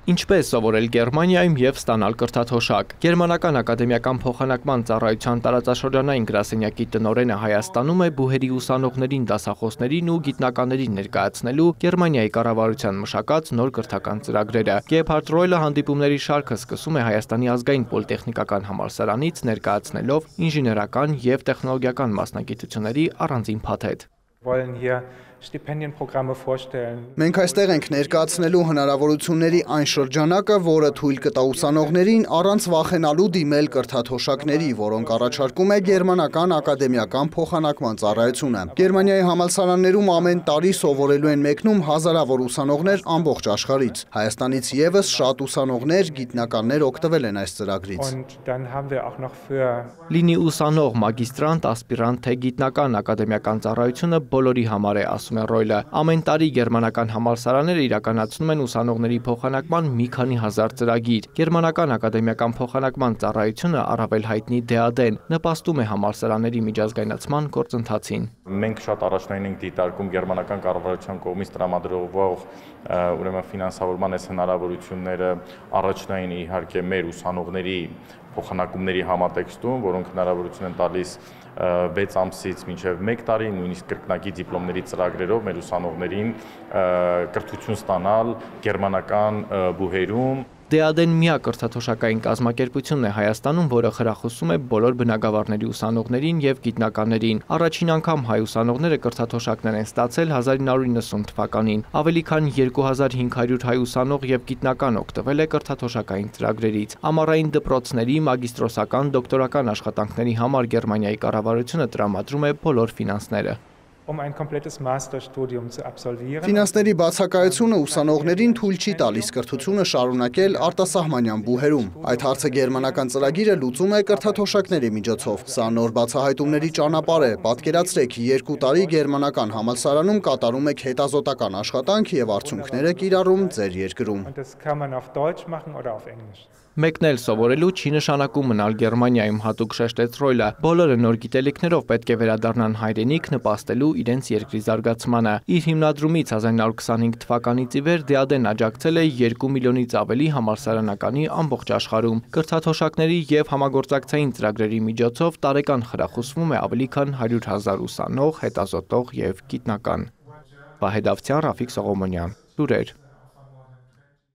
Ինչպես սովորել Գերմանիայում եւ ստանալ կրթաթոշակ։ Գերմանական ակադեմիական փոխանակման ծառայության տարածաշրջանային գրասենյակի տնօրենը Հայաստանում է բուհերի ուսանողներին, դասախոսներին ու գիտնականներին ներկայացնելու Գերմանիայի կառավարության մշակած նոր կրթական ծրագրերը։ Գեբհարդ Ռոյլը հանդիպումների շարքը սկսում է Հայաստանի ազգային պոլիտեխնիկական համալսարանից ներկայացնելով ինժեներական եւ տեխնոլոգիական մասնագիտությունների առանձին փաթեթ։ Մենք այստեղ ենք ներկայացնելու հնարավորությունների այն շրջանակը, որը թույլ կտա ուսանողներին առանց վախենալու դիմել կրթաթոշակների, որոնք առաջարկում է Գերմանական ակադեմիական փոխանակման ծառայությունը։ Գերմանիայի համալսարաններում ամեն տարի սովորելու են մեկնում հազարավոր ուսանողներ ամբողջ աշխարհից։ Հայաստանից եւս շատ ուսանողներ, գիտնականներ օգտվել են այս ծրագրից։ Լինի ուսանող, մագիստրանտ, ասպիրանտ, թե գիտնական ակադեմիական ծառայությունը բոլորի համար է, ասում է Ռոյլը։ Ամեն տարի գերմանական համալսարանները իրականացնում են ուսանողների փոխանակման մի քանի հազար ծրագիր։ Գերմանական ակադեմիական փոխանակման ծառայությունը առավել հայտնի DAAD-ն նպաստում է համալսարանների միջազգայնացման գործընթացին։ Մենք շատ առաջնային ենք դիտարկում գերմանական կառավարության կողմից տրամադրվող ֆինանսավորման այս հնարավորությունները առաջնային իհարկե մեր ուսանողների փոխանակումների համատեքստում, որոնք հնարավորություն են տալիս 6 ամսից մինչև 1 տարի, նույնիսկ կրկնակի դիպլոմների ծրագրերով մեր ուսանողներին կրթություն ստանալ գերմանական բուհերում։ DAAD-ն միակ կրթաթոշակային կազմակերպությունն է Հայաստանում, որը խրախուսում է բոլոր բնագավառների ուսանողներին եւ գիտնականներին։ Առաջին անգամ հայ ուսանողները կրթաթոշակներ են ստացել 1990 թվականին։ Ավելի քան 2500 հայ ուսանող եւ գիտնական օգտվել է կրթաթոշակային ծրագրերից։ Ամառային դպրոցների, մագիստրոսական, դոկտորական աշխատանքների համար Գերմանիայի կառավարությունը տրամադրում է բոլոր ֆինանսները։ Ֆինանսների բացակայությունը ուսանողներին թույլ չի տալիս կրթությունը շարունակել արտասահմանյան բուհերում։ Այդ հարցը գերմանական ծրագիրը լուծում է կրթաթոշակների միջոցով։ Սա նոր բացահայտումների ճանապարհ է։ Պատկերացրեք, 2 տարի գերմանական համալսարանում կատարում եք հետազոտական աշխատանք եւ արդյունքները կիրառում ձեր երկրում։ Մեկն էլ սովորելու չի նշանակում մնալ Գերմանիայում, հատուկ շեշտեց Ռոյլը։ Բոլորը նոր գիտելիքներով պետք է վերադառնան հայրենիք նպաստելու իրենց երկրի զարգացմանը։ Իր հիմնադրումից 1925 թվականից ի վեր DAAD-ն աջակցել է 2 միլիոնից ավելի համալսարանականի ամբողջ աշխարհում։ Կրթաթոշակների եւ համագործակցային ծրագրերի միջոցով տարեկան խրախուսվում է ավելի քան 100,000 ուսանող, հետազոտող եւ գիտնական։ Վահե Դավթյան, Ռաֆիկ Սողոմոնյան, լուրեր։